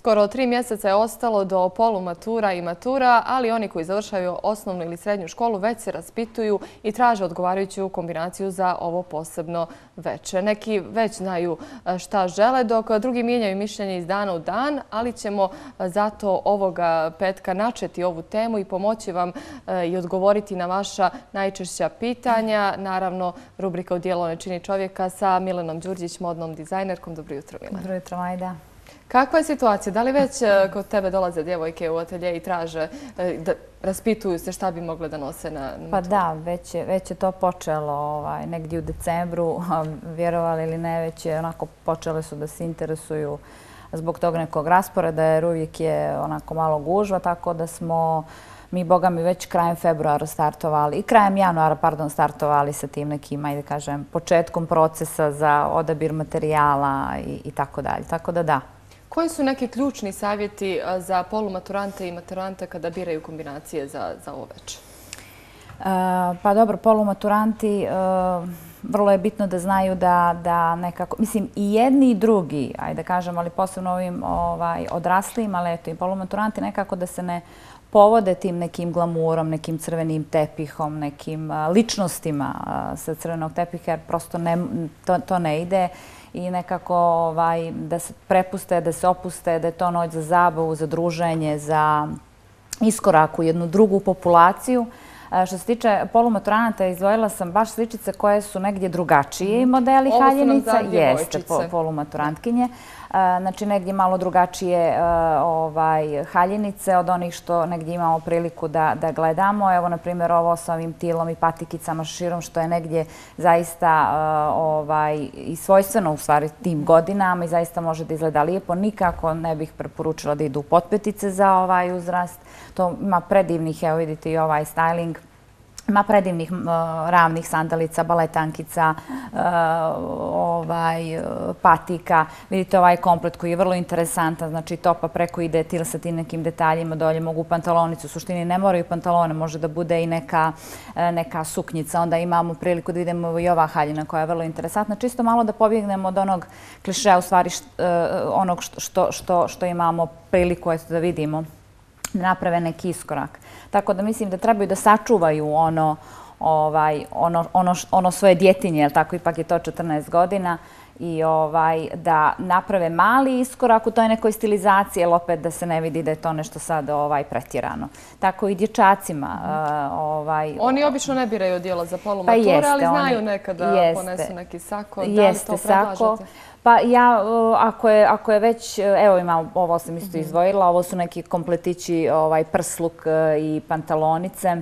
Skoro 3 mjeseca je ostalo do polumatura i matura, ali oni koji završaju osnovnu ili srednju školu već se raspituju i traže odgovarajuću kombinaciju za ovo posebno veče. Neki već znaju šta žele, dok drugi mijenjaju mišljenje iz dana u dan, ali ćemo zato ovoga petka načeti ovu temu i pomoći vam i odgovoriti na vaša najčešća pitanja. Naravno, rubrika Odijelo ne čini čovjeka sa Milenom Đurđić, modnom dizajnerkom. Dobro jutro, Milena. Dobro jutro, Majda. Kakva je situacija? Da li već kod tebe dolaze djevojke u atelje i traže, raspituju se šta bi mogle da nose na maturu? Pa da, već je to počelo negdje u decembru, vjerovali ili ne, već je onako počele su da se interesuju zbog tog nekog rasporeda, jer uvijek je onako malo gužva, tako da smo mi, boga mi, već krajem februara startovali i krajem januara, pardon, startovali sa tim nekim, ajde kažem, početkom procesa za odabir materijala i tako dalje. Tako da da. Koji su neki ključni savjeti za polumaturante i maturante kada biraju kombinacije za ovo veče? Pa dobro, polumaturanti, vrlo je bitno da znaju da nekako, mislim i jedni i drugi, ajde kažem, ali posebno ovim odraslim, ali eto i polumaturanti nekako da se ne povode tim nekim glamurom, nekim crvenim tepihom, nekim ličnostima sa crvenog tepiha, jer prosto to ne ide. I nekako da se prepuste, da se opuste, da je to noć za zabavu, za druženje, za iskorak u jednu drugu populaciju. Što se tiče polumaturanata, izdvojila sam baš sličice koje su negdje drugačije modeli haljenica. Jeste polumaturantkinje. Znači negdje malo drugačije haljenice od onih što negdje imamo priliku da gledamo. Evo, na primjer, ovo sa ovim tilom i patikicama širom, što je negdje zaista i svojstveno u stvari tim godinama i zaista može da izgleda lijepo. Nikako ne bih preporučila da idu potpetice za ovaj uzrast. To ima predivnih, evo vidite i ovaj styling. Ima predivnih ravnih sandalica, baletankica, patika. Vidite ovaj komplet koji je vrlo interesantan, znači topa preko ide til sa tim nekim detaljima, dolje mogu pantalonicu. U suštini ne moraju pantalone, može da bude i neka suknjica. Onda imamo priliku da vidimo i ova haljina koja je vrlo interesantna. Čisto malo da pobjegnemo od onog klišeja, u stvari onog što imamo priliku da vidimo, da naprave neki iskorak. Tako da mislim da trebaju da sačuvaju ono svoje djetinje, jer tako ipak je to 14 godina, i da naprave mali iskorak u toj nekoj stilizaciji, jer opet da se ne vidi da je to nešto sad pretjerano. Tako i dječacima. Oni obično ne biraju odijelo za polumature, ali znaju nekada ponesu neki sako. Da li to predlažete? Pa ja, ako je već, evo imam, ovo sam isto izdvojila, ovo su neki kompletići, prsluk i pantalonice,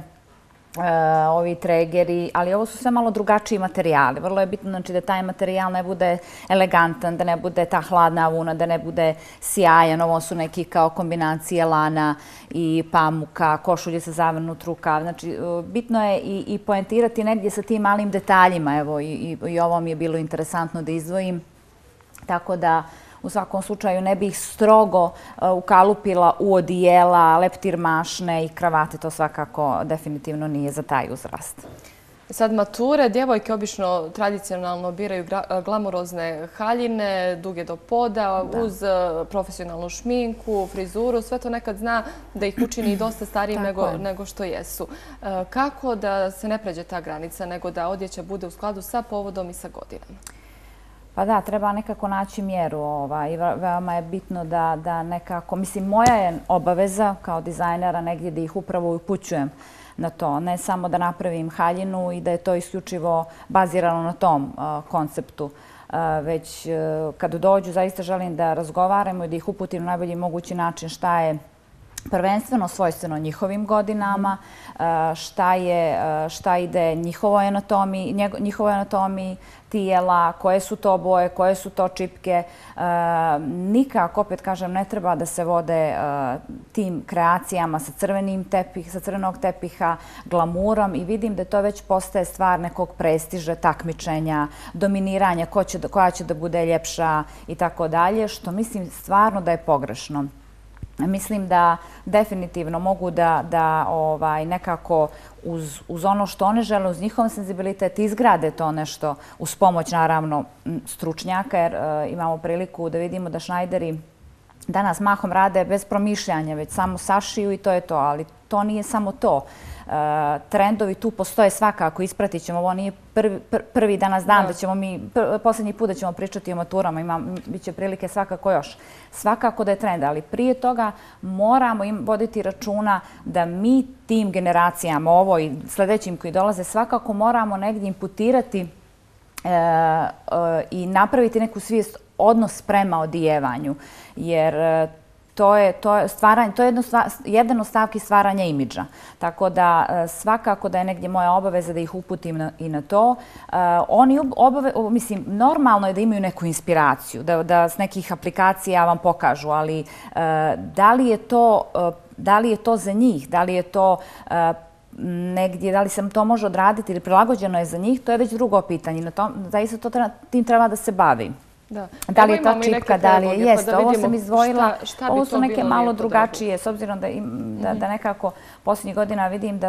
ovi tregeri, ali ovo su sve malo drugačiji materijali. Vrlo je bitno da taj materijal ne bude elegantan, da ne bude ta hladna vuna, da ne bude sjajan. Ovo su neki kao kombinacije lana i pamuka, košulje sa zavrnut rukav. Znači, bitno je i poentirati negdje sa tim malim detaljima. Evo, i ovo mi je bilo interesantno da izdvojim. Tako da u svakom slučaju ne bih strogo ukalupila u odijela, leptir mašne i kravate. To svakako definitivno nije za taj uzrast. Sad mature, djevojke obično tradicionalno biraju glamurozne haljine, duge do poda, uz profesionalnu šminku, frizuru. Sve to nekad zna da ih učini dosta starijim nego što jesu. Kako da se ne pređe ta granica, nego da odjeća bude u skladu sa povodom i sa godinama? Pa da, treba nekako naći mjeru. Veoma je bitno da nekako, mislim, moja je obaveza kao dizajnera negdje da ih upravo upućujem na to. Ne samo da napravim haljinu i da je to isključivo bazirano na tom konceptu. Već kad dođu, zaista želim da razgovaramo i da ih uputim na najbolji mogući način šta je prvenstveno svojstveno njihovim godinama, šta ide njihovoj anatomiji tijela, koje su to boje, koje su to čipke. Nikako, opet kažem, ne treba da se vode tim kreacijama sa crvenog tepiha, glamurom, i vidim da to već postaje stvar nekog prestiža, takmičenja, dominiranja, koja će da bude ljepša i tako dalje, što mislim stvarno da je pogrešno. Mislim da definitivno mogu da nekako uz ono što one žele, uz njihov senzibilitet izgrade to nešto uz pomoć naravno stručnjaka, jer imamo priliku da vidimo da šnajderi danas mahom rade bez promišljanja, već samo sašiju i to je to, ali to nije samo to. Trendovi tu postoje svakako, ispratit ćemo, ovo nije prvi danas dan da ćemo mi, posljednji put da ćemo pričati o maturama, bit će prilike svakako još. Svakako da je trend, ali prije toga moramo voditi računa da mi tim generacijama, ovo i sljedećim koji dolaze, svakako moramo negdje imputirati i napraviti neku svijest, odnos prema odijevanju, jer to je jedan od stavki stvaranja imidža. Tako da svakako da je negdje moja obaveza da ih uputim i na to. Oni, mislim, normalno je da imaju neku inspiraciju, da s nekih aplikacija vam pokažu, ali da li je to za njih, da li je to negdje, da li se to može odraditi ili prilagođeno je za njih, to je već drugo pitanje. Zaista tim treba da se bavi. Da li je to čipka, da li je jeste. Ovo sam izdvojila, ovo su neke malo drugačije, s obzirom da nekako posljednjih godina vidim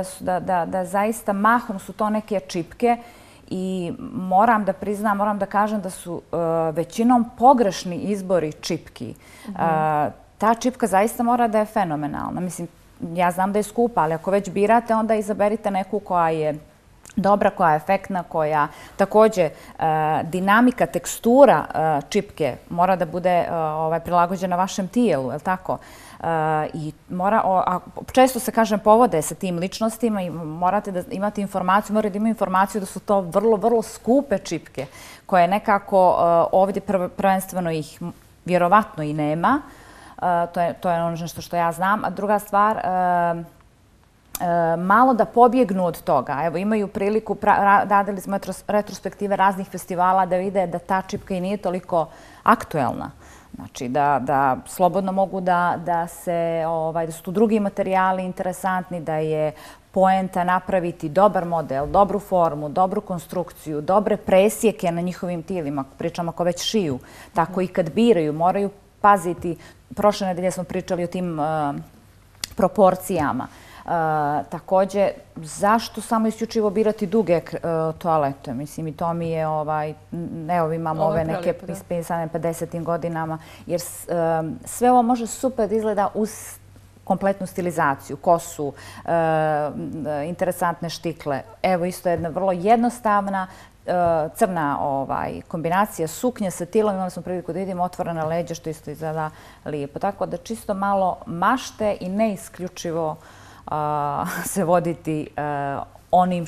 da zaista mahom su to neke čipke i moram da priznam, moram da kažem da su većinom pogrešni izbori čipki. Ta čipka zaista mora da je fenomenalna. Mislim, ja znam da je skupa, ali ako već birate, onda izaberite neku koja je dobra, koja je efektna, koja također dinamika, tekstura čipke mora da bude prilagođena vašem tijelu, je li tako? I često se, kažem, povode sa tim ličnostima i morate da imate informaciju, morate da imaju informaciju da su to vrlo, vrlo skupe čipke koje nekako ovdje prvenstveno ih vjerovatno i nema. To je ono što ja znam. A druga stvar, malo da pobjegnu od toga. Evo, imaju priliku, radili smo retrospektive raznih festivala da vide da ta čipka i nije toliko aktuelna. Znači, da slobodno mogu da su tu drugi materijali interesantni, da je poenta napraviti dobar model, dobru formu, dobru konstrukciju, dobre presjeke na njihovim tijelima. Pričamo ako već šiju. Tako i kad biraju, moraju paziti. Prošle nedelje smo pričali o tim proporcijama. Također, zašto samo isključivo birati duge toalete? Mislim, i to mi je, evo imamo ove neke ispisane 50. godinama, jer sve ovo može super da izgleda uz kompletnu stilizaciju, kosu, interesantne štikle. Evo isto jedna vrlo jednostavna crna kombinacija suknje sa tilom. Imali smo priliku da vidimo otvorena leđa, što isto izgleda lijepo. Tako da čisto malo mašte i ne isključivo se voditi onim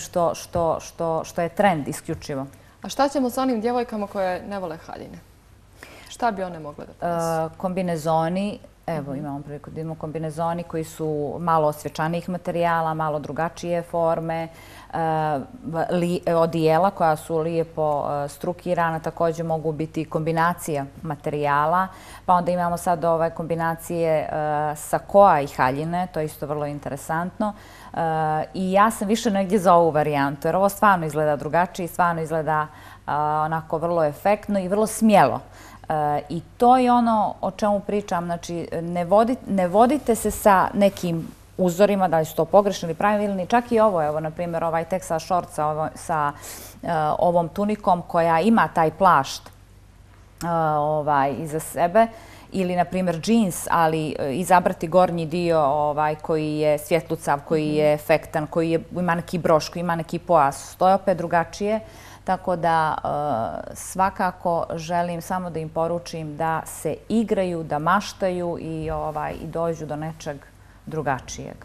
što je trend isključivo. A šta ćemo sa onim djevojkama koje ne vole haljine? Šta bi one mogle da ponosu? Kombinezoni. Evo, imamo priliku da vidimo kombinezoni koji su malo osvječanijih materijala, malo drugačije forme, odijela koja su lijepo strukirana, također mogu biti kombinacija materijala, pa onda imamo sad kombinacije sakoa i haljine, to je isto vrlo interesantno. I ja sam više negdje za ovu varijantu, jer ovo stvarno izgleda drugačije, stvarno izgleda onako vrlo efektno i vrlo smjelo. I to je ono o čemu pričam, znači ne vodite se sa nekim uzorima, da li su to pogrešni ili pravilni, čak i ovo, evo, na primjer, ovaj Texas short sa ovom tunikom koja ima taj plašt iza sebe, ili, na primjer, džins, ali izabrati gornji dio koji je svjetlucav, koji je efektan, koji ima neki broš, koji ima neki pojas, to je opet drugačije. Tako da svakako želim samo da im poručim da se igraju, da maštaju i dođu do nečeg drugačijeg.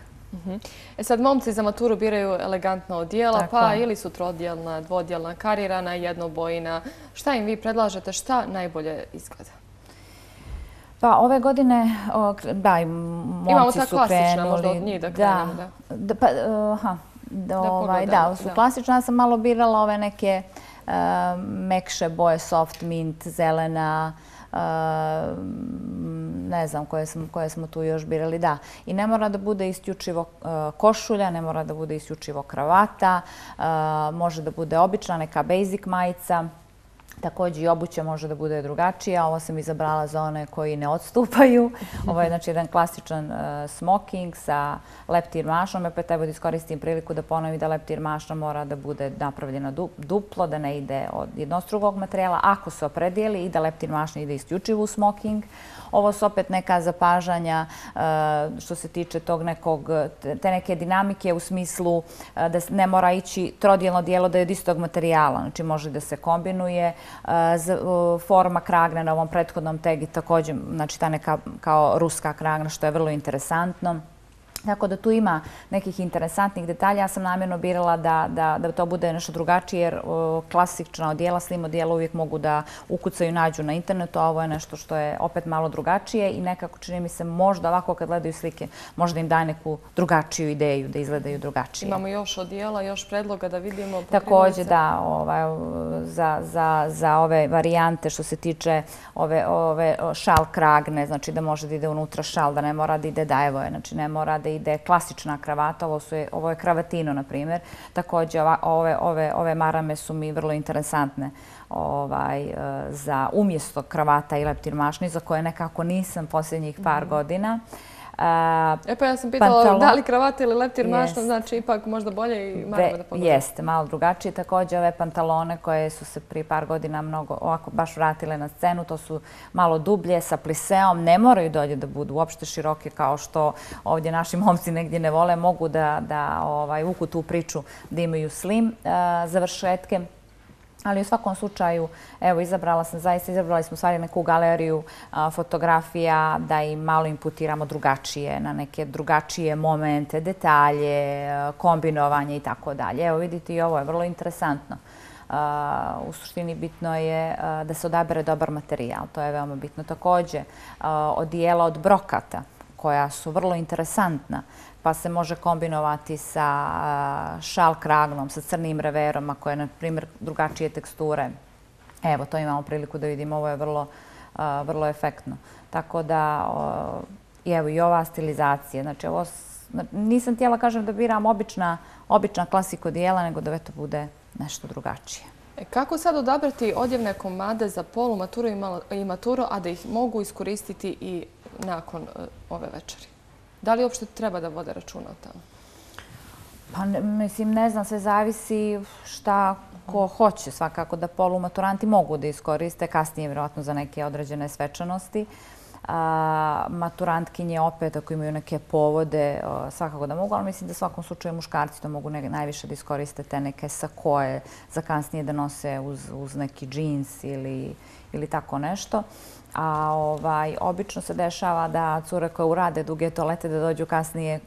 Sad momci za maturu biraju elegantna odijela, pa ili su trodjelna, dvodjelna, karirana, jednobojna. Šta im vi predlažete? Šta najbolje izgleda? Pa ove godine, da, i momci su krenuli. Imamo ta klasična, možda od njih da krenemo, da, su klasične. Ja sam malo birala ove neke mekše boje, soft mint, zelena, ne znam koje smo tu još birali, da. I ne mora da bude isključivo košulja, ne mora da bude isključivo kravata, može da bude obična neka basic majica. Također i obuća može da bude drugačija. Ovo sam izabrala za one koji ne odstupaju. Ovo je znači jedan klasičan smoking sa leptir mašnom. Opet evo da iskoristim priliku da ponovim da leptir mašna mora da bude napravljena duplo, da ne ide od jednostrukog materijala. Ako se opredijeli i da leptir mašna ide isključivo u smoking. Ovo su opet neka zapažanja što se tiče te neke dinamike u smislu da ne mora ići trodijelno dijelo da je od istog materijala. Znači može da se kombinuje. Forma kragne na ovom prethodnom tegi također, znači ta neka kao ruska kragna što je vrlo interesantno. Tako da tu ima nekih interesantnih detalja. Ja sam namjerno birala da to bude nešto drugačije jer klasična odijela, slim odijela uvijek mogu da ukucaju i nađu na internetu, a ovo je nešto što je opet malo drugačije i nekako čini mi se možda ovako kad gledaju slike možda im daje neku drugačiju ideju da izgledaju drugačije. Imamo još odijela, još predloga da vidimo. Također da, za ove varijante što se tiče ove šal kragne, znači da može da ide unutra šal, da ne mora da ide dajevo, znači ne mora da ide klasična kravata, ovo je kravatino, na primjer. Također, ove marame su mi vrlo interesantne za umjesto kravata i leptir mašni, za koje nekako nisam posljednjih par godina. Pa ja sam pitala da li kravata ili leptir mašna, znači ipak možda bolje i marame da pogledam. Jeste, malo drugačije. Također ove pantalone koje su se prije par godina mnogo ovako baš vratile na scenu, to su malo dublje sa pliseom, ne moraju dolje da budu uopšte široke kao što ovdje naši momci negdje ne vole, mogu da uku tu priču da imaju slim završetke. Ali u svakom slučaju, evo, izabrali smo stvari neku galeriju fotografija da im malo imputiramo drugačije, na neke drugačije momente, detalje, kombinovanje i tako dalje. Evo, vidite i ovo je vrlo interesantno. U suštini bitno je da se odabere dobar materijal, to je veoma bitno. Također, odijela od brokata koja su vrlo interesantna, pa se može kombinovati sa šal kragnom, sa crnim reverom, ako je, na primjer, drugačije teksture. Evo, to imamo priliku da vidimo, ovo je vrlo efektno. Tako da, evo i ova stilizacija. Znači, nisam htjela kažem da biram obična klasika odijela, nego da to bude nešto drugačije. Kako sad odabrati odjevne komade za polumaturu i maturu, a da ih mogu iskoristiti i nakon ove večeri? Da li uopšte treba da vode računa o tome? Pa, mislim, ne znam, sve zavisi šta ko hoće. Svakako da polumaturanti mogu da iskoriste, kasnije vjerojatno za neke određene svečanosti. Maturantkinje opet, ako imaju neke povode, svakako da mogu, ali mislim da u svakom slučaju muškarci to mogu najviše da iskoriste te neke sakoje za kasnije da nose uz neki džins ili tako nešto. A obično se dešava da cure koje urade duge toalete da dođu kasnije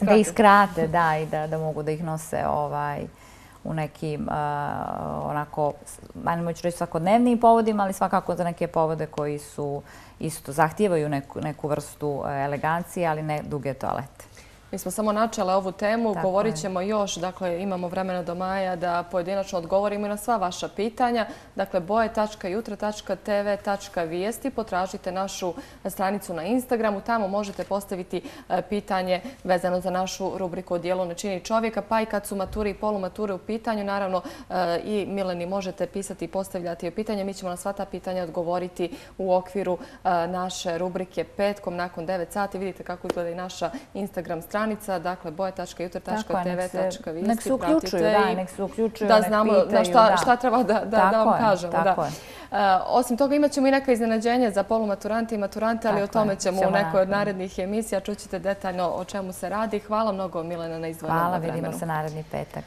da iskrate, da, i da mogu da ih nose u nekim onako, ajmo ću reći svakodnevnim povodima, ali svakako za neke povode koji su isto zahtijevaju neku vrstu elegancije, ali ne duge toalete. Mi smo samo načele ovu temu, govorit ćemo još, dakle imamo vremena do maja da pojedinačno odgovorimo i na sva vaša pitanja. Dakle, boje.jutra.tv.vijesti, potražite našu stranicu na Instagramu, tamo možete postaviti pitanje vezano za našu rubriku Odijelo ne čini čovjeka, pa i kad su mature i polumature u pitanju, naravno i Mileni možete pisati i postavljati pitanje. Mi ćemo na sva ta pitanja odgovoriti u okviru naše rubrike petkom nakon 9 sati. Vidite kako izgleda i naša Instagram stranica. Dakle, boje.jutra.tv.vijesti. Nek se uključuju, nek se uključuju, da znamo šta treba da vam kažemo. Osim toga imat ćemo i neka iznenađenja za polumaturante i maturante, ali o tome ćemo u nekoj od narednih emisija. Čućete detaljno o čemu se radi. Hvala mnogo, Milena, na izdvojenom vremenu. Hvala, vidimo se naredni petak.